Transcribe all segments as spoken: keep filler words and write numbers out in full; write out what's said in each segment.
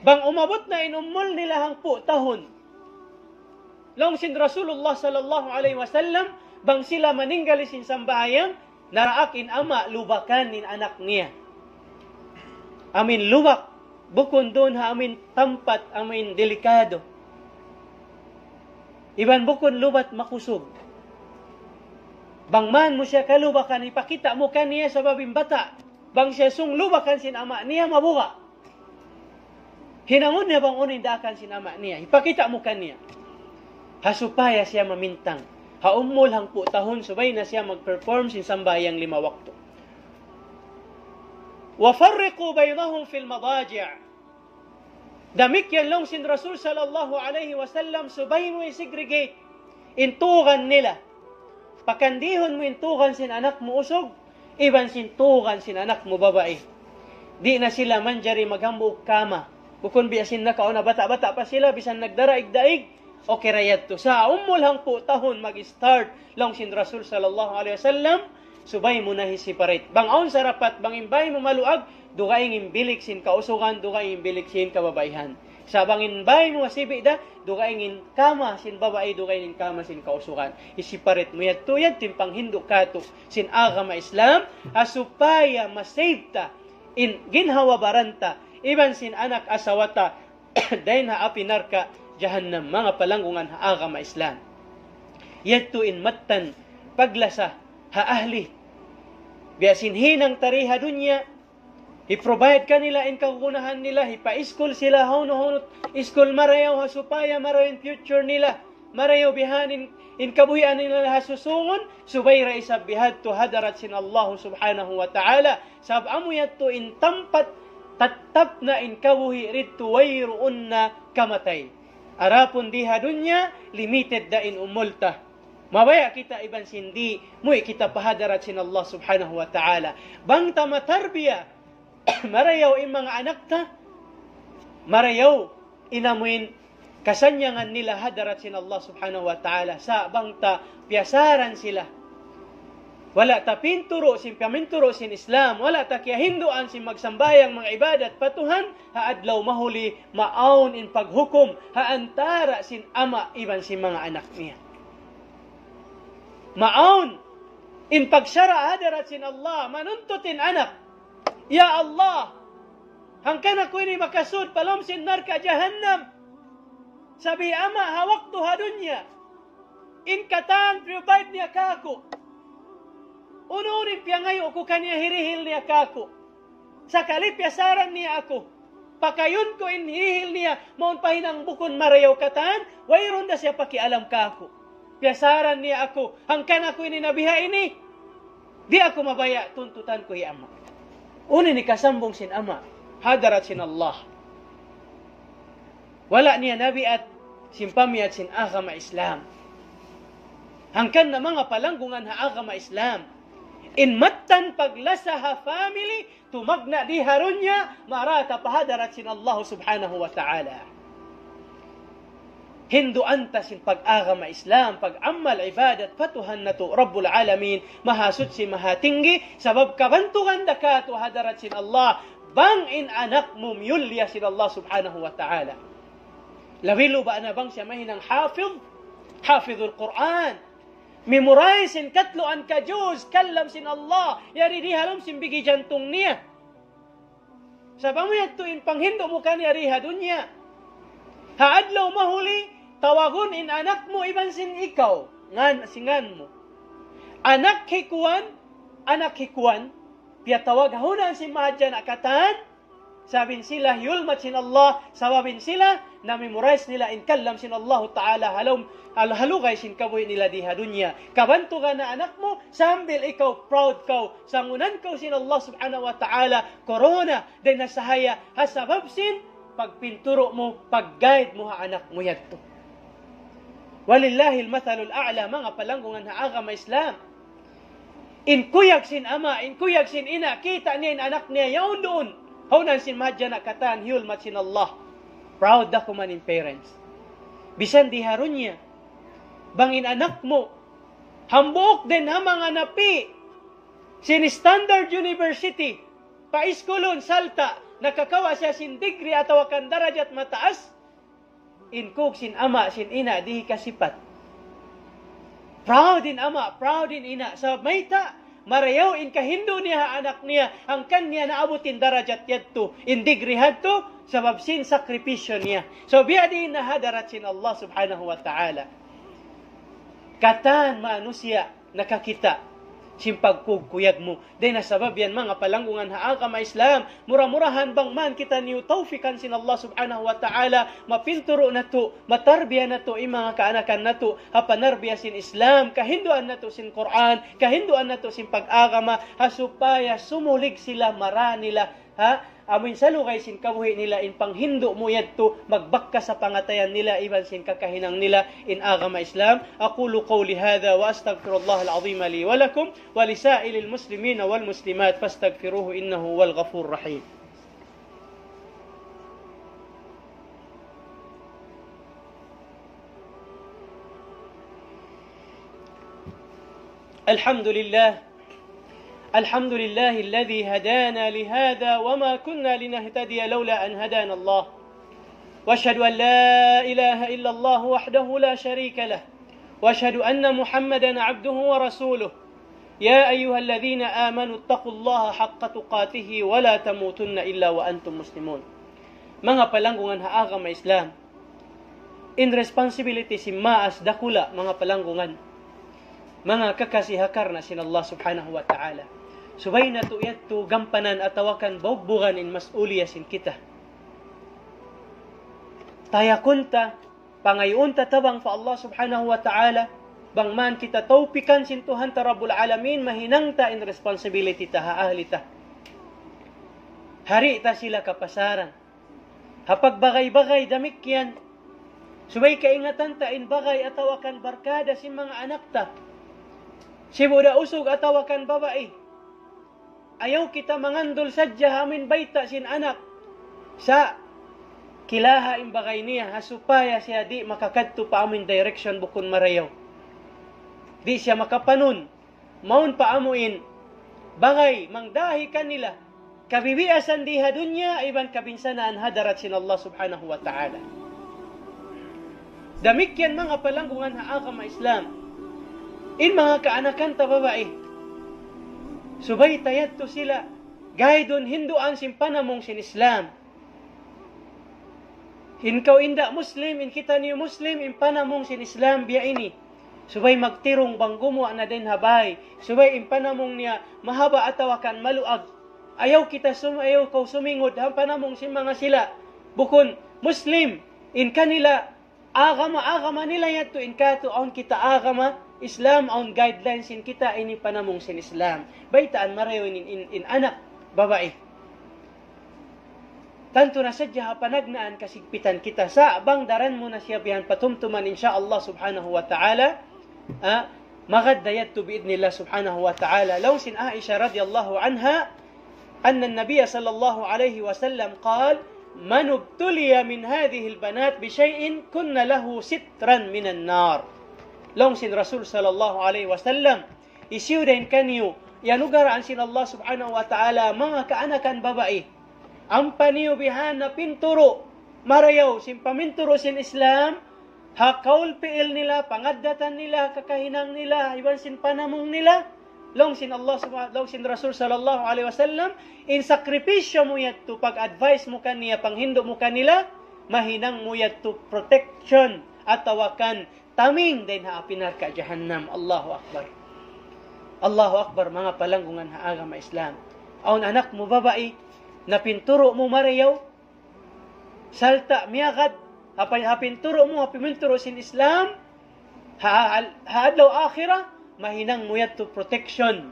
Bang umabut na in umul nila hangpu' tahun, laung sin Rasulullah sallallahu alayhi wasallam, bang sila maninggal sin sambahayang, naraak in ama' lubakan in anak niya. Amuin lubak, bukun duun ha amuin tampat, amuin delikado. Iban bukun lubat makusug. Bang man mu siya kalubakan, hipakita' mu kaniya sabab in bata'. Bang siya sung lubakan sin ama' niya, mabuga'. Hinangun niya bang unu in daakan sin ama' niya. Hipakita' mu kaniya. Ha supaya siya mamintang. Ha umul hangpu' tahun, subay na siya mag-perform sin sambahayang lima waktu. وفرقوا بينهم في المضاجع. Damikkiyan laung sin Rasul sallallahu alayhi wasallam, subay mu i-segregate in tugan nila. Pakandihun mu in tugan sin anak mu usug, iban sin tugan sin anak mu babai. Di' na sila manjari maghambuuk kama. Bukun biya' sin nakauna, bata'-bata' pa sila, bisan nagdaraig-daig, okay ra yadtu. Sa' umul hangpu' tahun mag-start, laung sin Rasul sallallahu alayhi wasallam, subay mu na hi-separate. Bang awn sarapat, bang in bāy mu maluag, dugaing in bilik sin kausugan, dugaing in bilik sin kababaihan. Sa' bang in bāy mu masibi' da, dugaing in kama sin babai, dugaing in kama sin kausugan. Hi-separate mu yadtu, yadtu in panghindu' katu' sin agama Islam, ha supaya ma-save ta in ginhawa-baran ta, iban sin anak asawa ta, dayn ha api narka' jahannam, manga palanggungan ha agama Islam. Yadtu in mattan paglasa ha ahli. Biya' sin hinang ta di ha dunya, hi-provide kanila in kagunahan nila, hipa-iskul sila hawnu-hawnu iskul marayaw ha supaya marayaw in future nila, marayaw bihaun in kabuhian nila ha susungun, subay da isab bihadtu hadarat sin Allah subhanahu wa ta'ala. Sabab amu yadtu in tampat tattap na in kabuhi' didtu, wayruun na kamatay. Adapun di ha dunya, limited da in umul ta. Mabaya' kita iban sin di', muwi' kita pa hadarat sin Allah subhanahu wa ta'ala. Bang ta matarbiya marayaw in manga anak ta, marayaw in amuin kasannyangan nila hadarat sin Allah subhanahu wa ta'ala. Sa' bang ta piyasaran sila, wala' ta pinturu' sin paminturu' sin Islam, wala' ta kiyahinduan sin magsambahayang, mag-ibadat pa Tuhan, ha adlaw mahuli, maawn in paghukum ha antara' sin ama' iban sin manga anak niya. Maawn in pagsara' hadarat sin Allah, manuntut in anak, "Ya Allah, hangkan aku ini makasud pa lawm sin narka' jahannam. Sabab hi ama' ha waktu ha dunya, in katan provide niya kāku'. Unu-unu in piyangayu' ku kaniya hirihil niya kāku'. Sakali piyasaran niya aku, pakayun ku in hirihil niya, mawn pa hinang bukun marayaw katan, wayruun da siya pakialam kāku'. Piyasaran niya aku, hangkan aku ini nabiha ini, di' aku mabaya' tuntutan ku hi ama'." Unu in hikasambung sin ama' hadarat sin Allah? Wala' niya nabiat sin pamiyat sin agama Islam. Hangkan na manga palanggungan ha agama Islam, in mattan paglasa ha family, tumagna' di ha dunya, marayaw ta pa hadarat sin Allah subhanahu wa ta'ala. Hinduan ta sin pag-agama Islam, pag-amal ibadat pa Tuhan natu' Rabbul Alamin, Mahasuchi, Mahatinggi, sabab kabantugan da katu' hadarat sin Allah, bang in anak mu miyulliya sin Allah subhanahu wa ta'ala. Labi-labi na bang siya mahinang hafiz, hafizul Qur'an. Memorize sin katluan ka juz, kalam sin Allah, yari di ha lawm sin bigi jantung niya. Sabab amu yadtu in panghindu' mu kaniya di ha dunya. Ha adlaw mahuli, tawagun in anak mu iban sin ikaw, ngan, sin ngan mu. Anak hi kuwan, anak hi kuwan, piyatawag ha hunang sin mahadjana' katan, sabab in sila hiyulmat sin Allah, sabab in sila na-memorize nila in kalam sin Allahu Ta'ala ha lawm, ha lugay sin kabuhi' nila di ha dunya. Kabantugan na anak mu, sambil ikaw proud kaw, sangunan kaw sin Allah Subhanahu wa Ta'ala, korona, dayn ha sahaya, ha sabab sin pagpinturu' mu, pag-guide mu ha anak mu yadtu. Walillahil mathalul a'la, manga palanggungan ha agama Islam. In kuyag sin ama', in kuyag sin ina', kita' niya in anak niya yaun duun ha hunang sin mahadjana' katan, hiyulmat sin Allah. Proud da kuman in parents. Bisan di ha dunya, bang in anak mu hambuuk dayn ha manga napi' sin standard university, paiskulun, sarta' nakakawa' siya sin degree atawa kan darajat mataas, in kug sin ama' sin ina' di' hikasipat. Proud in ama', proud in ina'. Sabab mayta', marayaw in kahindu' niya ha anak niya, hangkan niya naabut in darajat yadtu, in degree hadtu, sabab sin sakripisyo niya. So, biya' diin na ha hadarat sin Allah Subhanahu wa Ta'ala. Katan manusiya' nakakita' sin pagkuyag mu. Dayn ha sabab yan, manga palanggungan ha agama Islam, mura-murahan bang man kitaniyu tawfikan sin Allah Subhanahu wa Ta'ala, mapinturu' natu', matarbiya natu', in manga kaanakan natu', ha panarbiya sin Islam, kahinduan natu' sin Qur'an, kahinduan natu' sin pag-agama, ha supaya sumulig sila, mara nila, ha, amuin salugay sin kabuhi' nila in panghindu' mu yadtu, magbakkas ha pangatayan nila iban sin kakahinang nila in agama Islam. أقول قولي هذا وأستغفر الله العظيم لي ولكم ولسائر المسلمين والمسلمات فاستغفروه إنه هو الغفور الرحيم. الحمد لله. الحمد لله الذي هدانا لهذا وما كنا لنهتدي لولا أن هدانا الله. وأشهد أن لا إله إلا الله وحده لا شريك له. وأشهد أن محمدا عبده ورسوله. يا أيها الذين آمنوا اتقوا الله حق تقاته ولا تموتن إلا وأنتم مسلمون. Manga palanggungan ha agama Islam, in responsibility sin maas dakula', manga palanggungan, manga kakasi ha karna' sin Allah Subhanahu wa Ta'ala. Subay natu' yadtu gampanan atawa kan baugbugan in mas'uliya sin kita. Tayakun ta, pangayuun ta tabang pa Allah Subhanahu wa Ta'ala, bang man kita tawpikan sin Tuhan ta Rabbul Alamin, mahinang ta in responsibility ta ha ahli ta. Hari ta sila kapasaran. Ha pagbagay-bagay damikkiyan, subay kaingatan ta in bagay atawa kan barkada sin manga anak ta. Sibu' da usug atawa kan babai. Ayaw kita mangandul sadja ha amuin bayta' sin anak. Sa' kilaha in bagay niya, ha supaya siya di' makakadtu pa amuin direction bukun marayaw. Di' siya makapanun. Mawn pa amuin bagay mangdahi kanila kabibiasan di ha dunya iban kabinsanaan ha hadarat sin Allah Subhanahu wa Ta'ala. Damikkiyan manga palanggungan ha agama Islam. In manga kaanakan ta babai, subay ta yadtu sila gaidun, hinduan sin panamung sin Islam. In kaw inda' Muslim, in kitaniyu Muslim, in panamung sin Islam biya' ini. Subay magtirung bang gumuwa' na dayn ha bay. Subay in panamung niya mahaba' atawa kan maluag. Ayaw kita sum-, ayaw kaw sumingud ha panamung sin manga sila bukun Muslim. In kanila agama, agama nila yadtu, in katu' awn kita agama Islam, awn guidelines sin kita, ini panamung sin Islam. Baytaan marayaw in, in, in anak babai. Tantu na sadja ha panagnaan kasigpitan kita. Sa' bang daran mu na siya bihan patumtuman, insya Allah Subhanahu wa Ta'ala, ah, magad da yadtu bi'idhnillah Subhanahu wa Ta'ala. Laung sin Aisha radiyallahu anha, أن النبي صلى الله عليه وسلم قال: من ابتلي من هذه البنات بشيء كن له سترا من النار. Laung sin Rasul sallallahu alayhi wasallam, hisiyu dayn kaniyu, iyanugaraan sin Allah Subhanahu wa Ta'ala manga kaanakan babai. Ampa niyu bihan na pinturu' marayaw sin paminturu' sin Islam, ha kaul pi'il nila, pangaddatan nila, kakahinang nila, iban sin panamung nila. Laung sin Allah Subha-, laung sin Rasul sallallahu alayhi wasallam, in sakripisyo mu yadtu, pag-advise mu kaniya, panghindu' mu kanila, mahinang mu yadtu protection atawa kan taming dayn ha api narka' jahannam. Allahu Akbar. Allahu Akbar, manga palanggungan ha agama Islam. Awn anak mu babai, napinturu' mu marayaw, sarta' miyagad, ha pa-, ha pinturu' mu, ha paminturu' sin Islam, ha, ha, ha adlaw akhirat, mahinang mu yadtu protection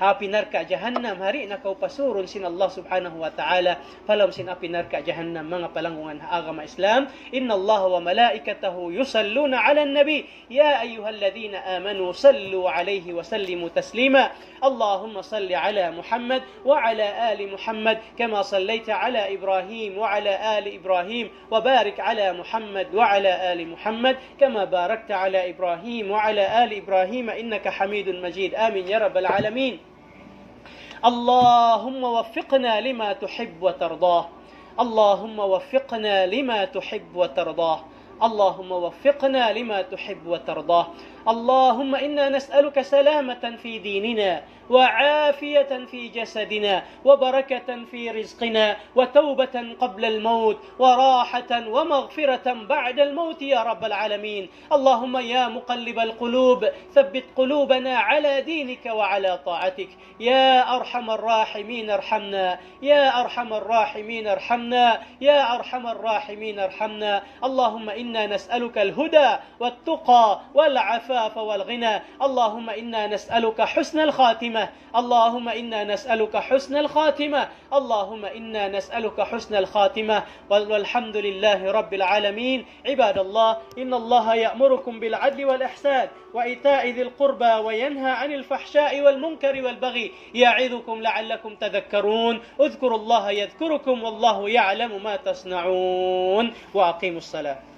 ha api narka' jahannam, hari na kaw pasurun sin Allah Subhanahu wa Ta'ala, pa lawm sin api narka' jahannam, manga palanggungan ha agama Islam. إن الله وملائكته يصلون على النبي يا أيها الذين آمنوا صلوا عليه وسلموا تسليما. اللهم صل على محمد وعلى آل محمد كما صليت على إبراهيم وعلى آل إبراهيم وبارك على محمد وعلى آل محمد كما باركت على إبراهيم وعلى آل إبراهيم إنك حميد مجيد. آمين يا رب العالمين. اللهم وفقنا لما تحب وترضاه. اللهم وفقنا لما تحب وترضاه. اللهم وفقنا لما تحب وترضاه. اللهم إنا نسألك سلامة في ديننا، وعافية في جسدنا، وبركة في رزقنا، وتوبة قبل الموت، وراحة ومغفرة بعد الموت يا رب العالمين. اللهم يا مقلب القلوب، ثبت قلوبنا على دينك وعلى طاعتك. يا أرحم الراحمين ارحمنا، يا أرحم الراحمين ارحمنا، يا أرحم الراحمين ارحمنا. اللهم إنا نسألك الهدى والتقى والعفاف والغنى. اللهم إنا نسألك حسن الخاتمة. اللهم إنا نسألك حسن الخاتمة. اللهم إنا نسألك حسن الخاتمة. وال-، والحمد لله رب العالمين. عباد الله، إن الله يأمركم بالعدل والإحسان وإيتاء ذي القربى وينهى عن الفحشاء والمنكر والبغي يعظكم لعلكم تذكرون. اذكروا الله يذكركم والله يعلم ما تصنعون. وأقيموا الصلاة.